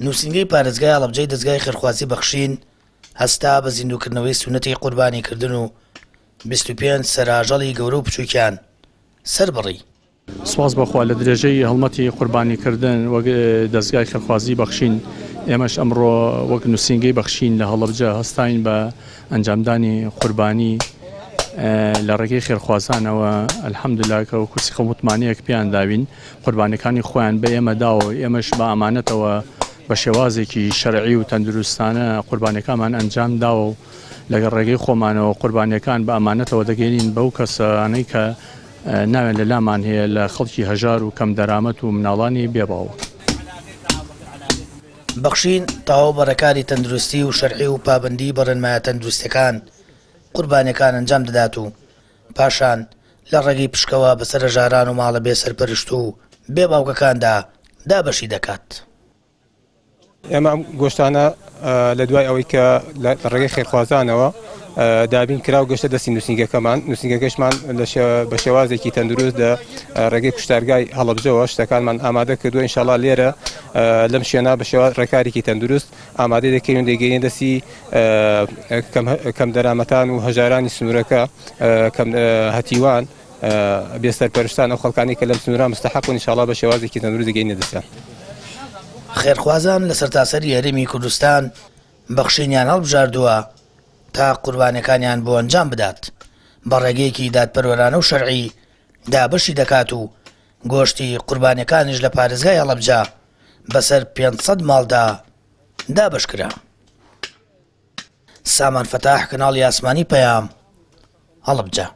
نووسینگەی پارێزگای هەڵەبجەی دەزگای خێرخوازی بەخشین هەستا بە زیندووکردنەوەی سوننەتی قوربانیکردن و 25 سەر ئاژەڵی گەورە و بچووکیان سەربڕی. سوپاس بۆ خوا لە درێژەی هەڵمەتی قوربانیکردن وەک دەزگای خێرخوازی بەخشین، ئێمەش ئەمڕۆ وەک نووسینگەی بەخشین لە هەڵەبجە هەستاین بە ئەنجامدانی قوربانی لە ڕێگەی خێرخوازانەوە، الحمدللە کە وەکو سیقە و متمانەیەک پێیان داوین قوربانیەکانی خۆیان بە ئێمە داوە و ئێمەش بە ئامانەتەوە بە شێوازێکی شەرعی و تەندروستانە قوربانیەکانمان ئەنجام داوە و لەگەڵ ڕێگەی خۆمانەوە قوربانیەکان بە ئامانەتەوە دەگەینین بەو کەسانەی کە ناویان لە لامان هەیە لە خەڵکی هەژار و کەم دەرامەت و مناڵانی بێ باوک. بەخشین تەواو بە ڕێکاری تەندروستی و شەرعی و پابەندی بە ڕێنمایە تەندروستیەکان قوربانیەکان ئەنجام دەدات و پاشان لە ڕێگەی پشکەوە بەسەر هەژاران و ماڵە بێ سەرپەرشت و بێ باوکەکاندا دابەشی دەکات. ئێمە ئەم گۆشتانە لە دوای ئەوەی کە لە ڕێگەی خێرخوازانەوە دابین کرا و گەشتە دەستی نووسینگەکەمان، نووسینگەکەشمان بە شێوازێکی تەندروست لە ڕێگەی کوشتارگای هەڵەبجەوە شتەکانمان ئامادە کردووە. ئینشاڵا لێرە لەم شوێنە بە شێواز ڕێکارێکی تەندروست ئامادەی دەکەین و دەیگەینە دەستی کەم دەرامەتان و هەژارانی سنوورەکە، کەم هەتیوان، بێ سەرپەرشتان، ئەو خەڵکانەی کە لەم سنوورە مستەحەقن، ئینشاڵا بە شێوازێکی تەندروست دەگەینە دەستیان. خێرخوازان لە سەرتاسەری هەرێمی کوردستان بەخشینیان هەڵبژاردووە تا قوربانیەکانیان بۆ ئەنجام بدات، بە ڕێگەیەکی دادپەروەرانە و شەرعی دابەشی دەکات و گۆشتی قوربانیەکانیش لە پارێزگای هەڵەبجە بەسەر 500 ماڵدا دابەشکرا. سامان فەتاح، کەناڵی ئاسمانی پەیام، هەڵەبجە.